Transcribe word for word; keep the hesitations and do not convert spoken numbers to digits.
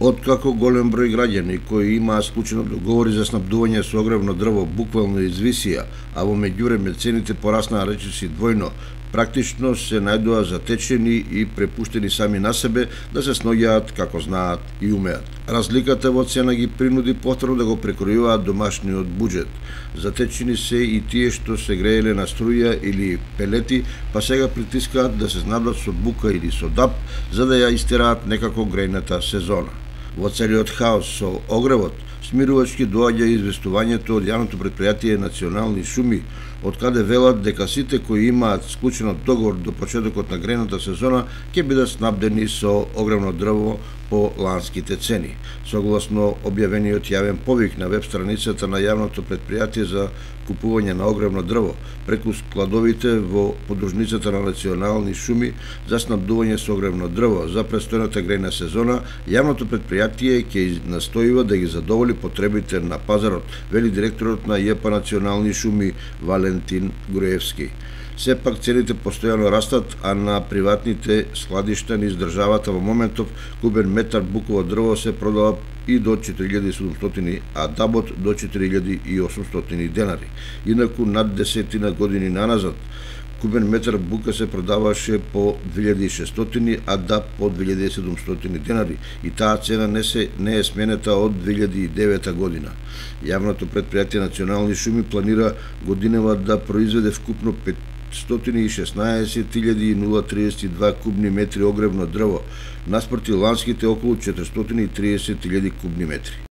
Откако голем број граѓани кои имаат склучено договори за снабдување со огревно дрво буквално извисија, а во меѓувреме цените пораснаа речиси двојно, практично се најдоа затечени и препуштени сами на себе да се сноѓаат како знаат и умеат. Разликата во цена ги принуди повторно да го прекројуваат домашниот буџет. Затечени се и тие што се грееле на струја или пелети, па сега притискаат да се знадат со бука или со дап, за да ја истераат некако грејната сезона. Во целиот хаос со огревот, смирувачки доаѓа известувањето од јавното претпријатие Национални шуми, од каде велат дека сите кои имаат склучено договор до почетокот на грејната сезона ќе бидат снабдени со огревно дрво по ланските цени. Согласно објавениот јавен повик на веб страницата на јавното претпријатие за купување на огревно дрво преку складовите во подружницата на Национални шуми за снабдување со огревно дрво за престојната грејна сезона, јавното претпријатие ќе настојува да ги задоволи потребите на пазарот, вели директорот на ЈП Национални шуми Валентин Груевски. Сепак цените постојано растат, а на приватните складишта низ државата во моментов кубен метар буково дрво се продава и до четири илјади и седумстотини, а дабот до четири илјади и осумстотини денари. Инаку над десетина години наназад кубен метар бука се продаваше по две илјади и шестстотини, а даб по две илјади и седумстотини денари, и таа цена не се не е сменета од две илјади и девета година. Јавното претпријатие Национални шуми планира годинава да произведе вкупно петстотини и шеснаесет илјади триесет и два кубни метри огревно дрво, наспроти ланските околу четиристотини и триесет илјади кубни метри.